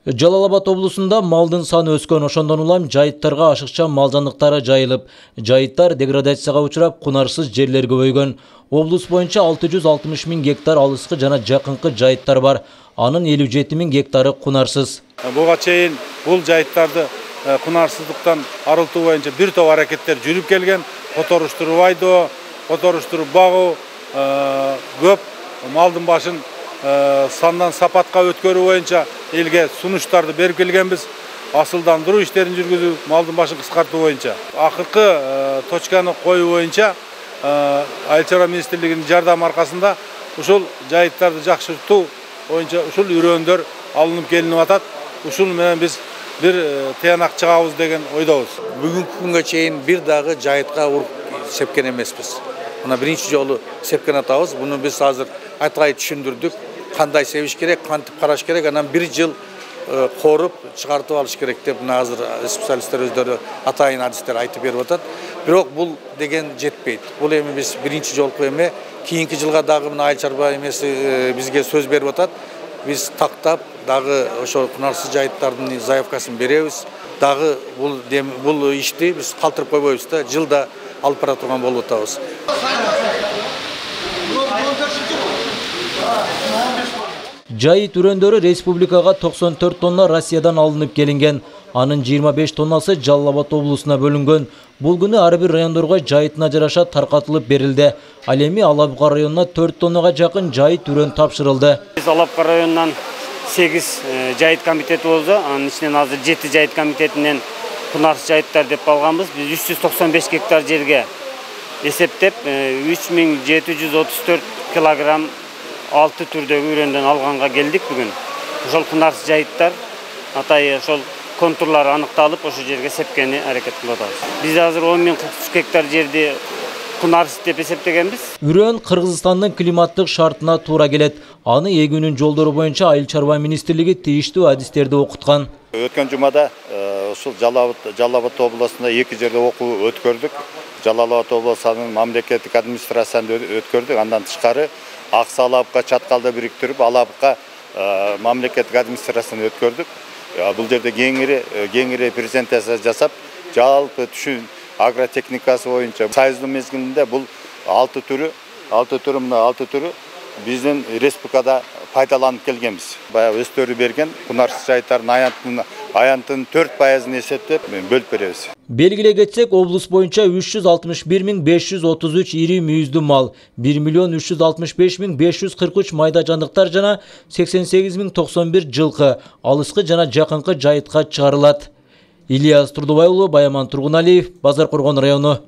Жалал Абад облусунда малдын саны өскөн, ошондон улам жайыттарга ашыкча мал жандыктары жайылып, жайыттар деградацияга учурап, кунарсыз жерлер көбөйгөн. Облус боюнча 660 000 гектар алыскы жана жакынкы жайыттар бар. Анын 57 000 гектары кунарсыз. Буга чейин бул жайыттарды кунарсыздыктан арылтуу боюнча бир топ аракеттер жүрүп келген. Которуштуруп айдоо, которуштуруп багуу, көп малдын башын сандан сапатка өткөрүү боюнча элге сунуштарды берип келгенбиз. Асылдандыруу иштерин жүргүзүү, малдын башын кыскартуу боюнча. Акыркы точканы коюу боюнча Айыл чарба министрлигинин жардамы аркасында ушул жайыттарды жакшыртуу боюнча ушул үрөндөр алынып келинип атат. Ушул менен биз бир тыянак чыгабыз деген ойдобуз. Бүгүнкү күнгө чейин бир дагы жайытка уруп сепкен эмеспиз. Мына биринчи жолу сепкен атабыз. Буну биз азыр айткай түшүндүрдүк. Кандай себиш керек, кантип караш керек, анан бир жыл коруп чыгартып алыш керек деп мына азыр специалисттер өздөрү атайын адистер айтып берип атат. Бирок бул деген жетпейт. Бул эми биз биринчи жолку эме, кийинки жылга дагы мына айыл чарба эмеси бизге сөз берип атат. Биз тактап дагы ошо кунарсыз жайыттардын заявкасын беребиз. Дагы бул ишти биз калтырып койбойбуз да, жылда алып бара турган болуп атабыз. Жайыт үрөндөрү республикага 94 тонна Россиядан алынып келинген. Анын 25 тоннасы Жалал Абад облусуна бөлүнгөн. Бул күнү ар бир райондорго жайытына жараша таркатылып берилди. Ал эми Алапка районуна 4 тоннага жакын жайыт үрөн тапшырылды. Биз Алапка районунан 8 жайыт комитети болду. Анын ичинен азыр 7 жайыт комитетинен кунарсыз жайыттар деп алганбыз. Биз 395 гектар жерге эсептеп 3734 килограмм 6 түрдөгү үрөндөн алганга келдик бүгүн. Ошол кунарсыз жайыттар атайы ошол контурлары аныкталып, ошол жерге сепкени аракет кылып атабыз. Биз азыр 10.043 гектар жерди кунарсыз деп эсептегенбиз. Үрөн Кыргызстандын климаттык шартына туура келет. Аны эгүүнүн жолдору боюнча Айыл чарба министрлиги тийиштүү адистерди окуткан. Өткөн жумада ушул Жалал Абад облусунда 2 жерде окуу өткөрдүк. Жалал Абад облусунун мамлекеттик администрациясында өткөрдүк. Андан тышкары Аксы Алапка чаткалда бириктирип, Алапка мамлекеттик администрациясына өткөрдүк. Бул жерде кеңири презентация жасап, жалпы түшүн агротехникасы боюнча сайыздуу мезгилинде бул 6 түрү биздин республикада пайдаланып келгенбиз. Баягы өстөрү берген кунарсыз жайыттардын аянтынын 4%-ын эсептеп бөлүп беребиз. Белгилей кетсек, облус боюнча 361 533 ири мүйүздүү мал, 1 365 543 майда жандыктар жана 88 091 жылкы алыскы жана жакынкы жайытка чыгарылат. Ильяс Турдубай уулу, Баяман Тургуналиев, Базар Коргон району.